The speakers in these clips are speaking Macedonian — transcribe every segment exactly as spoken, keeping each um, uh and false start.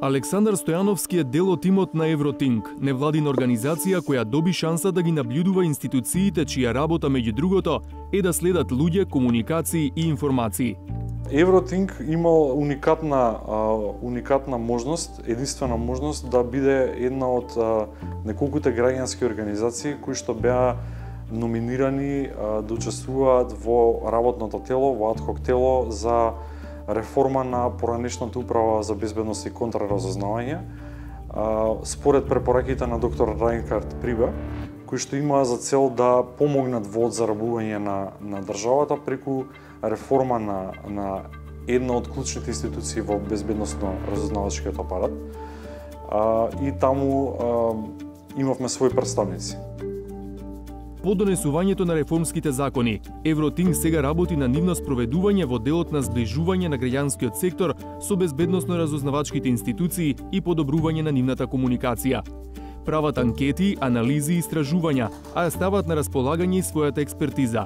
Александар Стојановски е дел од тимот на Евротинк, невладина организација која доби шанса да ги наблюдува институциите чија работа меѓу другото е да следат луѓе, комуникации и информации. Евротинк имал уникатна уникатна можност, единствена можност да биде една од неколкуте граѓански организации кои што беа номинирани да учествуваат во работното тело, во адхок тело за реформа на поранешната управа за безбедност и контраразузнавање, според препораките на доктор Райнхард Прибе, кои што имаа за цел да помогнат во одзарабување на, на државата преку реформа на, на една од клучните институции во безбедносно-разузнавачкиот апарат. А, и таму а, имавме своји представници. По донесувањето на реформските закони, Евротинк сега работи на нивно спроведување во делот на сближување на граѓанскиот сектор со безбедносно-разузнавачките институции и подобрување на нивната комуникација. Прават анкети, анализи и истражувања, а ја стават на располагање и својата експертиза.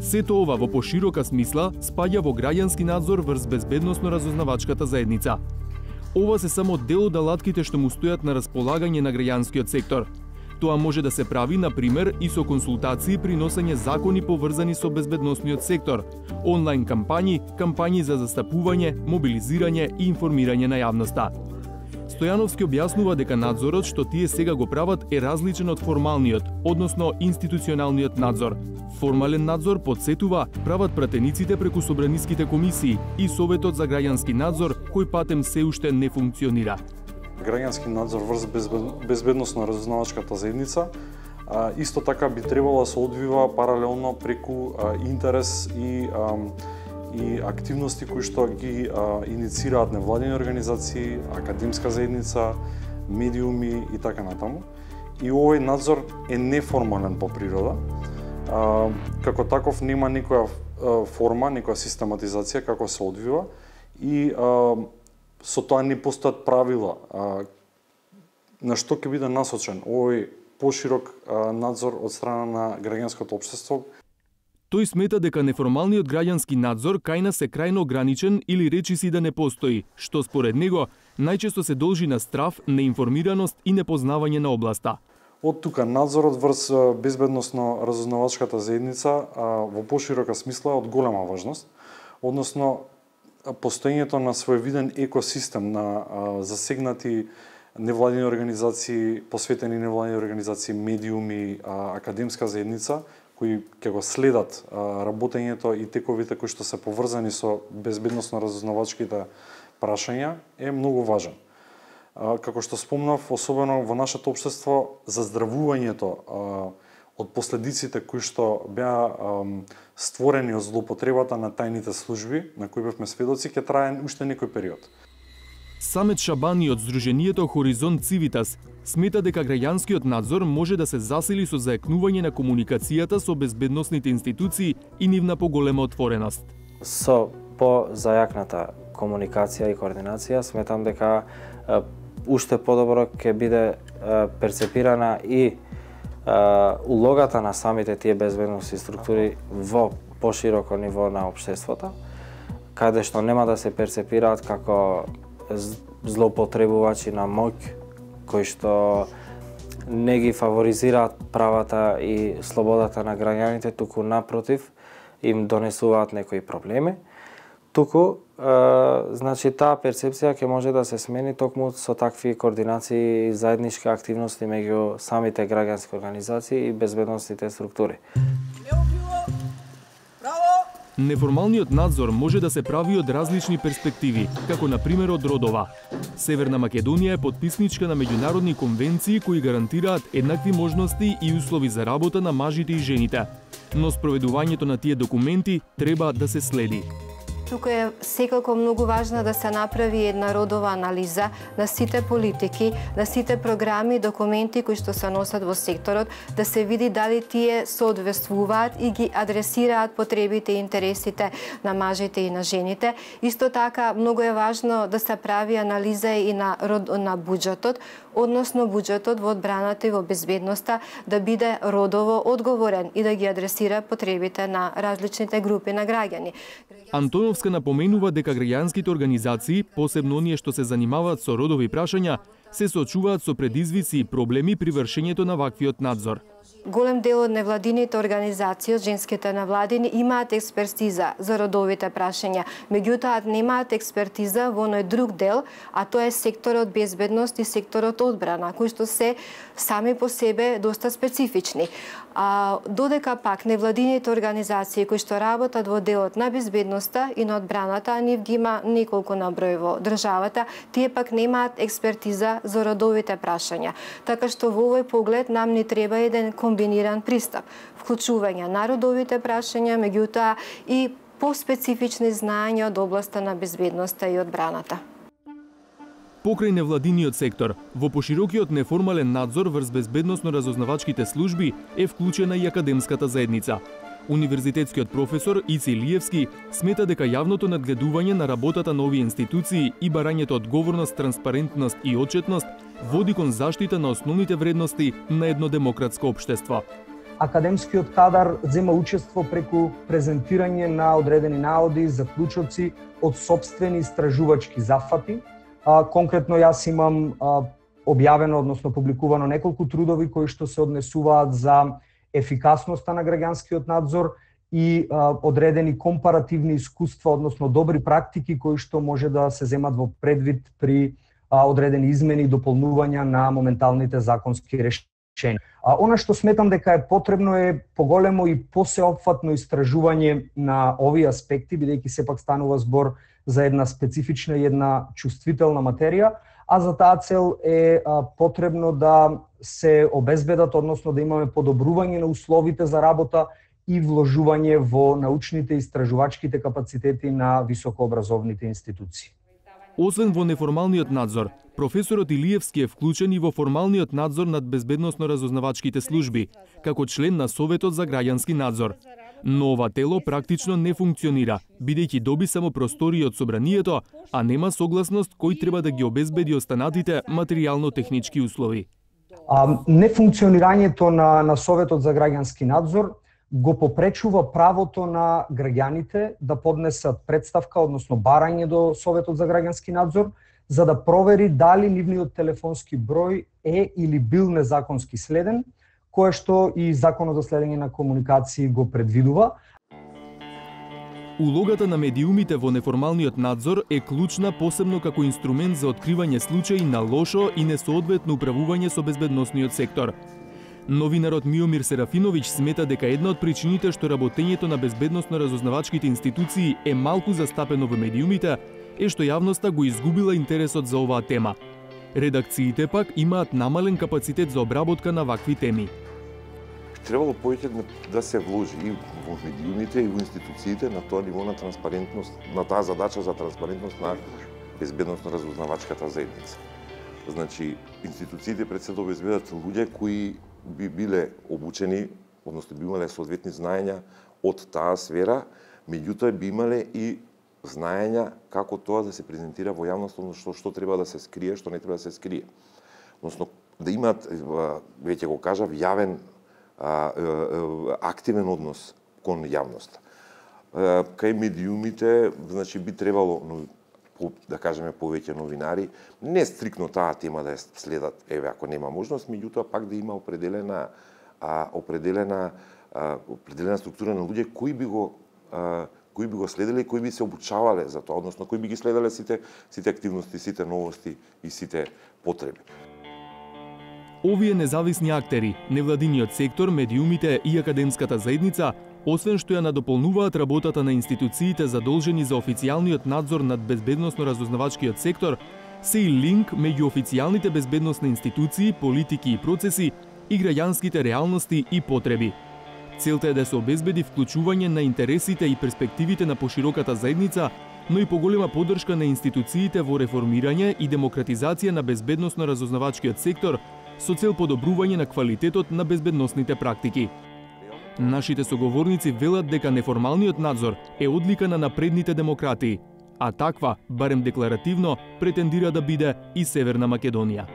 Сето ова во поширока смисла спаѓа во граѓански надзор врз безбедносно-разузнавачката заедница. Ова се само дел од алатките што му стојат на располагање на граѓанскиот сектор. Тоа може да се прави, на пример, и со консултации при носење закони поврзани со безбедносниот сектор, онлайн кампањи, кампањи за застапување, мобилизирање и информирање на јавноста. Стојановски објаснува дека надзорот што тие сега го прават е различен од формалниот, односно институционалниот надзор. Формален надзор, подсетува, прават пратениците преку собраниските комисии и Советот за граѓански надзор, кој патем се уште не функционира. Граѓански надзор врз безбедносно-разузнавачката заедница а, исто така би требало да се одвива паралелно преку а, интерес и а, и активности кои што ги а, иницираат невладини организации, академска заедница, медиуми и така натаму. И овој надзор е неформален по природа. А, како таков нема никоја а, форма, никоја систематизација како се одвива и а, со тоа не постојат правила а, на што ќе биде насочен овој поширок а, надзор од страна на граѓанското општество. Тој смета дека неформалниот граѓански надзор кај нас е крајно ограничен или речиси да не постои, што според него најчесто се должи на страв, неинформираност и непознавање на областа. Од тука надзорот врз безбедносно-разузнавачката заедница а, во поширока смисла е од голема важност, односно постоењето на своевиден екосистем на а, засегнати невладини организации, посветени невладини организации, медиуми, а, академска заедница, кои ќе го следат а, работењето и тековите кои што се поврзани со безбедносно-разузнавачките прашања е многу важен. А, како што спомнав, особено во нашето општество, заздравувањето а, од последиците кои што беа а, створени од злоупотребата на тајните служби, на кои бевме сведоци, ќе трае уште некој период. Самет Шабани од Сдруженијето Хоризонт Цивитас смета дека граѓанскиот надзор може да се засили со заекнување на комуникацијата со безбедносните институции и нивна поголема отвореност. Со по-зајакната комуникација и координација сметам дека е, уште подобро ќе биде е, перцепирана и е, улогата на самите тие безбедносни структури во пошироко ниво на општеството, каде што нема да се перцепираат како злоупотребувачи на моќ, кои што не ги фаворизираат правата и слободата на граѓаните, туку напротив им донесуваат некои проблеми. Туку, е, значи, таа перцепција ќе може да се смени токму со такви координации и заеднички активности меѓу самите граѓански организации и безбедносните структури. Неформалниот надзор може да се прави од различни перспективи, како на пример од родова. Северна Македонија е потписничка на меѓународни конвенции кои гарантираат еднакви можности и услови за работа на мажите и жените. Но спроведувањето на тие документи треба да се следи. Тука е секако многу важно да се направи една родова анализа на сите политики, на сите програми и документи кои што се носат во секторот, да се види дали тие соодветствуваат и ги адресираат потребите и интересите на мажите и на жените. Исто така, многу е важно да се прави анализа и на, на буџетот, односно буџетот во одбраната и во безбедноста да биде родово одговорен и да ги адресира потребите на различните групи на граѓани. Антоновска напоменува дека граѓанските организации, посебно оние што се занимаваат со родови прашања, се соочуваат со предизвици и проблеми при вршењето на ваквиот надзор. Голем дел од невладините организации, од женските невладини, имаат експертиза за родовите прашања, меѓутоа немаат експертиза во оној друг дел, а тоа е секторот безбедност и секторот одбрана, кои што се сами по себе доста специфични. А додека пак невладините организации кои што работат во делот на безбедноста и на одбраната, а нив ги има неколку наброј во државата, тие пак немаат експертиза за родовите прашања. Така што во овој поглед нам ни треба еден комбиниран пристап, вклучување на родовите прашања, меѓутоа и поспецифични знаења од областа на безбедноста и одбраната. Покрај невладиниот сектор, во поширокиот неформален надзор врз безбедносно-разузнавачките служби е вклучена и академската заедница. Универзитетскиот професор Ици Лиевски смета дека јавното надгледување на работата на овие институции и барањето одговорност, транспарентност и отчетност води кон заштита на основните вредности на едно демократско општество. Академскиот кадар зема учество преку презентирање на одредени наоди, заклучоци од сопствени истражувачки зафати. А, конкретно јас имам а, објавено, односно публикувано неколку трудови кои што се однесуваат за ефикасноста на граѓанскиот надзор и а, одредени компаративни искуства, односно добри практики кои што може да се земат во предвид при а, одредени измени и дополнувања на моменталните законски решенија. А она што сметам дека е потребно е поголемо и посеопфатно истражување на овие аспекти, бидејќи сепак станува збор за една специфична и една чувствителна материја, а за таа цел е а, потребно да се обезбедат, односно да имаме подобрување на условите за работа и вложување во научните и истражувачките капацитети на високообразовните институции. Освен во неформалниот надзор, професорот Илиевски е вклучен и во формалниот надзор над безбедносно-разузнавачките служби, како член на Советот за граѓански надзор. Но ова тело практично не функционира, бидејќи доби само простории од собранието, а нема согласност кој треба да ги обезбеди останатите материјално-технички услови. А, нефункционирањето на, на Советот за граѓански надзор го попречува правото на граѓаните да поднесат представка, односно барање до Советот за граѓански надзор, за да провери дали нивниот телефонски број е или бил незаконски следен, кое што и Законот за следење на комуникации го предвидува. Улогата на медиумите во неформалниот надзор е клучна, посебно како инструмент за откривање случаи на лошо и несоодветно управување со безбедносниот сектор. Новинарот Миомир Серафиновиќ смета дека една од причините што работењето на безбедносно-разузнавачките институции е малку застапено во медиумите е што јавноста го изгубила интересот за оваа тема. Редакциите пак имаат намален капацитет за обработка на вакви теми. Требало повеќе да се вложи и во медиумите и во институциите на тоа ниво на транспарентност, на таа задача за транспарентност на безбедносно-разузнавачката заедница. Значи, институциите пред се да обезбедат луѓе кои би биле обучени, односно би имале соодветни знаења од таа сфера, меѓутоа би имале и знаења како тоа да се презентира во јавност, односно што, што треба да се скрие, што не треба да се скрие. Односно, да имаат, веќе го кажав, јавен активен однос кон јавноста. Кај медиумите, значи, би требало, да кажеме, повеќе новинари, не стрикно таа тема да ја следат, еве, ако нема можност, меѓутоа пак да има определена, а, определена, а, определена структура на луѓе кои би го, а, кои би го следеле и кои би се обучавале за тоа, односно кои би ги следеле сите, сите активности, сите новости и сите потреби. Овие независни актери, невладиниот сектор, медиумите и академската заедница, освен што ја надополнуваат работата на институциите задолжени за официјалниот надзор над безбедносно-разузнавачкиот сектор, се и линк меѓу официјалните безбедносни институции, политики и процеси и граѓанските реалности и потреби. Целта е да се обезбеди вклучување на интересите и перспективите на пошироката заедница, но и поголема поддршка на институциите во реформирање и демократизација на безбедносно-разузнавачкиот сектор со цел подобрување на квалитетот на безбедносните практики. Нашите соговорници велат дека неформалниот надзор е одлика на напредните демократии, а таква, барем декларативно, претендира да биде и Северна Македонија.